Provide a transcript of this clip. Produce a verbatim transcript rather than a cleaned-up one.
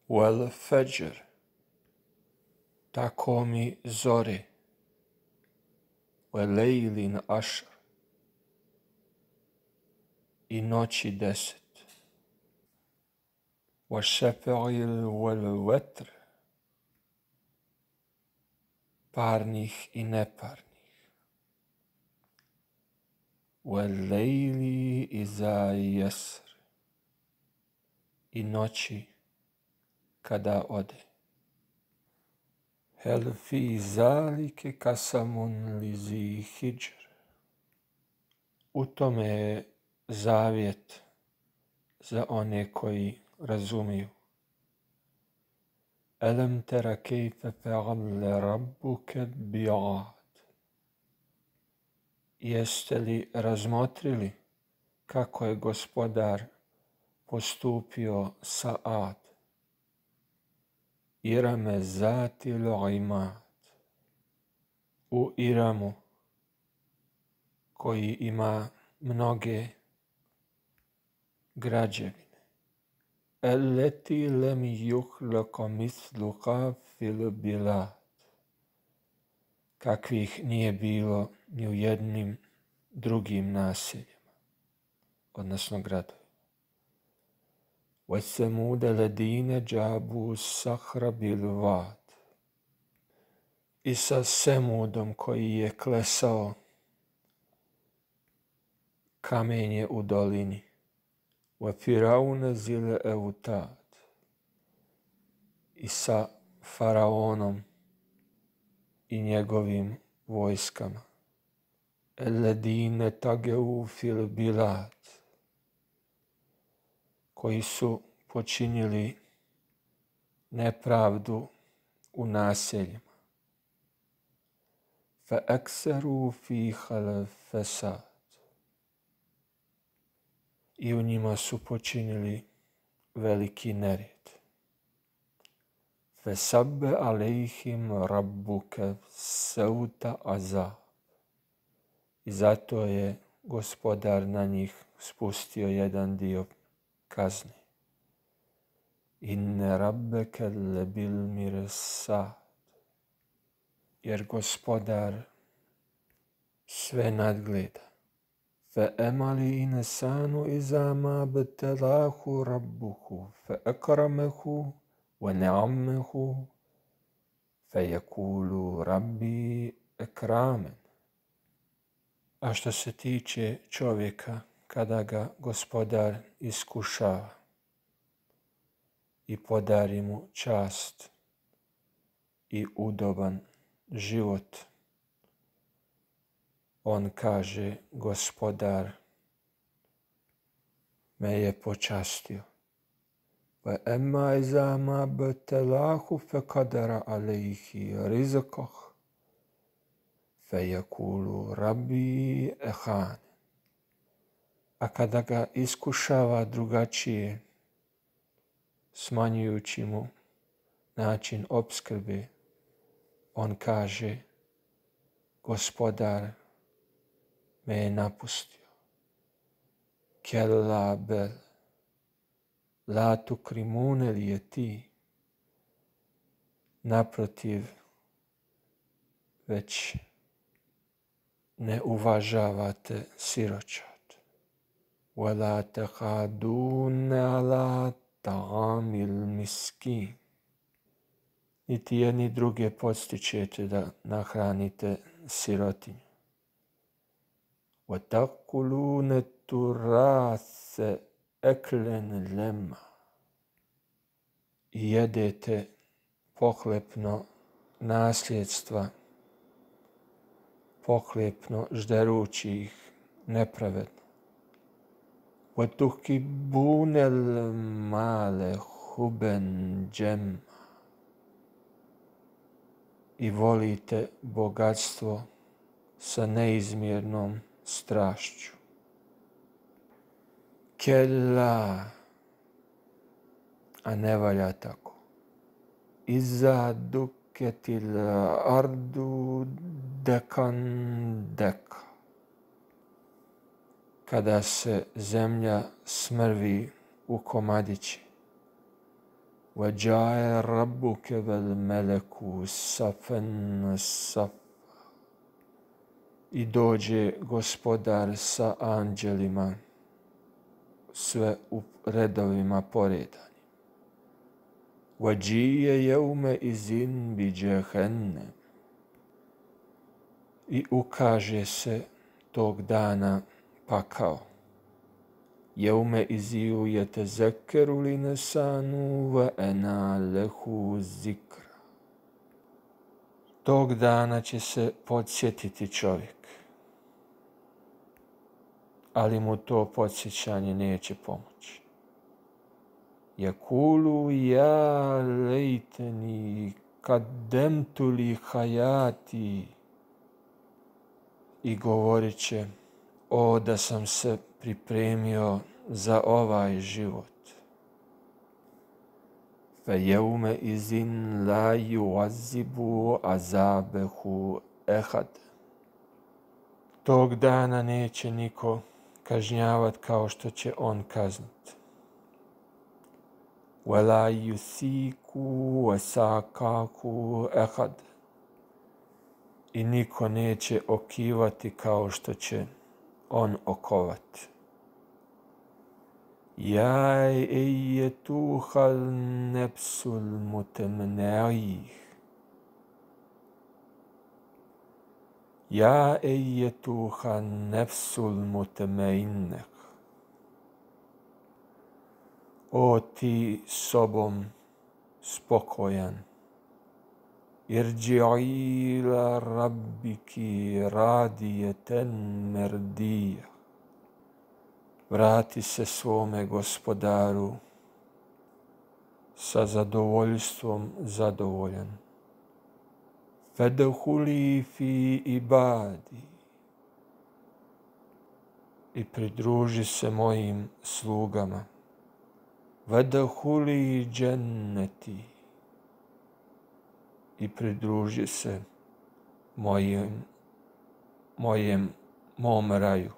Wal fajr, tako mi zore, wa lejlin ašr, i noći deset, wa šefail wal vetr, parnih i neparnih, wa lejli iza jesr, i noći kada ode. Hel fi zalike kasamun lizi hijr, u tome je zavjet za one koji razumiju. Alam tara kejfe fe'ale rabbuke bi'ad, jeste li razmotrili kako je gospodar postupio sa Ad? Irame zatil imad, u Iramu koji ima mnoge građevine. Allati lam yukhluqa mithluha fil bilad, kakvih nije bilo ni u jednim drugim naseljima, odnosno gradovima. وَثَمُودَ الَّذِينَ جَابُوا الصَّخْرَ بِالْوَادِ, i sa Semudom koji je klesao kamenje u dolini. وَفِرَعَوْنَ ذِي الْأَوْتَادِ, i sa faraonom i njegovim vojskama. الَّذِينَ طَغَوْا فِي الْبِلَادِ, koji su počinili nepravdu u naseljima. فَأَكْثَرُوا فِيهَا الْفَسَادَ, i u njima su počinili veliki nered. فَسَبَّ عَلَيْهِمْ رَبُّكَ سَوْطَ عَذَابٍ, i zato je gospodar na njih spustio jedan dio kazne. Inne rabbeke lebil mirsad, jer gospodar sve nadgleda. Fe emali insanu iza ma btelahu rabbuhu fe akramehu wa ne'ammehu fe yekulu rabbi ekramen. A što se tiče čovjeka, kada ga gospodar iskušava i podari mu čast i udoban život, on kaže, gospodar me je počastio. Va emma iza ma btelahu fe kadara alejhi rizqah fe yekulu rabbi ehan. A kada ga iskušava drugačije, smanjujući mu način opskrbe, on kaže, gospodar me je napustio. Kella bel, la tukrimune li je ti, naprotiv, već ne uvažavate siročad. Wala tahadune ala ta'amil miskin, niti jedni druge podstičete da nahranite sirotinju. وَتَقُلُونَ تُرَاثَ أَكْلًا لَمَّا, i jedete pohlepno nasljedstva, pohlepno žderući ih nepravedno. وَتُحِبُّونَ الْمَالَ حُبًّا جَمًّا, i volite bogatstvo sa neizmjernom strašću. Kella, a ne valja tako. Iza duketil ardu dekan deka, kada se zemlja smrvi u komadići. وَجَاءَ رَبُّكَ وَالْمَلَكُ صَفًّا صَفًّا. I dođe Gospodar sa anđelima, sve u redovima poredani. وَجِيَ يَوْمَئِذٍ بِجَهَنَّمَ. I ukaže se tog dana pakao. يَوْمَئِذٍ يَتَذَكَّرُ الْإِنسَانُ وَأَنَى لَهُ الذِّكْرَى. Tog dana će se podsjetiti čovjek, ali mu to podsjećanje neće pomoći. Yakulu ja lejteni kaddemtu li hayati. I govorit će, o da sam se pripremio za ovaj život. فَيَوْمَئِذٍ لَا يُعَذِّبُ عَذَابَهُ أَحَدٌ. Tog dana neće niko kažnjavat kao što će on kaznit. وَلَا يُثِيقُ وَثَاقَهُ أَحَدٌ. I niko neće okivati kao što će on okovat. Ja ejetuhal nepsul mutemneih. Ja ejetuhal nepsul mutemeinek. O ti sobom spokojan. Irđi'i ila rabbiki radijeten merdija. Vrati se svome Gospodaru sa zadovoljstvom zadovoljan. Fedhuli fi ibadi. I pridruži se mojim slugama. Fedhuli dženneti. I pridruži se mojim, mojem, mom raju.